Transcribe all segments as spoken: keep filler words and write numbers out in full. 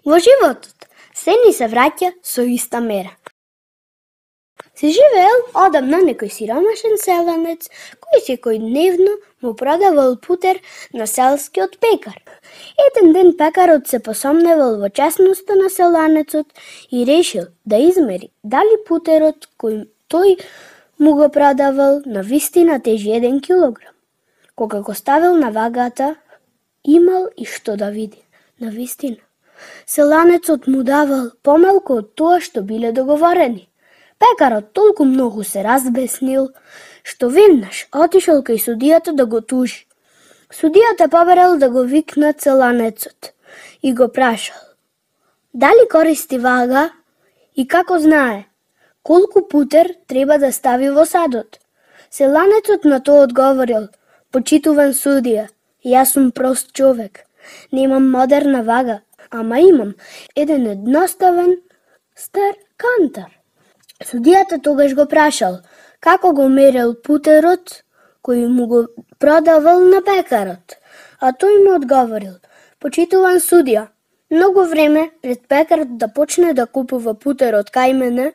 Во животот се ни се враќа со иста мера. Се живеел одамна некој сиромашен селанец кој секојдневно му продавал путер на селскиот пекар. Еден ден пекарот се посомневал во честноста на селанецот и решил да измери дали путерот кој тој му го продавал на вистина тежи еден килограм. Кога го ставил на вагата, имал и што да види. На вистина, селанецот му давал помалку од тоа што биле договорени. Пекарот толку многу се разбеснил, што веднаш отишол кај судијата да го тужи. Судијата побарал да го викнат селанецот и го прашал дали користи вага и како знае колку путер треба да стави во садот. Селанецот на тоа одговорил: почитуван судија, јас сум прост човек, немам модерна вага, ама имам еден едноставен стар кантар. Судијата тогаш го прашал како го мерел путерот кој му го продавал на пекарот, а тој му одговорил: почитуван судија, многу време пред пекарот да почне да купува путерот кај мене,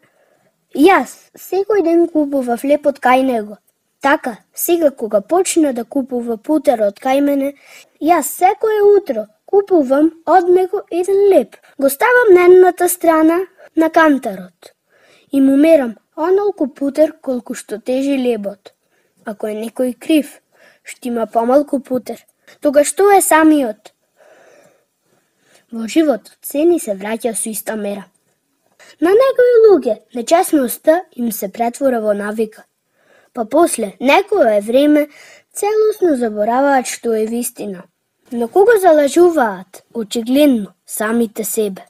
јас секој ден купував лепот кај него. Така, сега кога почне да купува путерот кај мене, јас секое утро купувам од него еден леп. Го ставам на едната страна на кантарот и му мерам онолку путер колку што тежи лебот. Ако е некој крив, што има помалку путер, тогаш тоа е самиот. Во животот се ни се враќа со иста мера. На некои луѓе нечесноста им се претвора во навика, па после некое време целосно забораваат што е вистина. Но кога залажуваат, очигледно самите себе.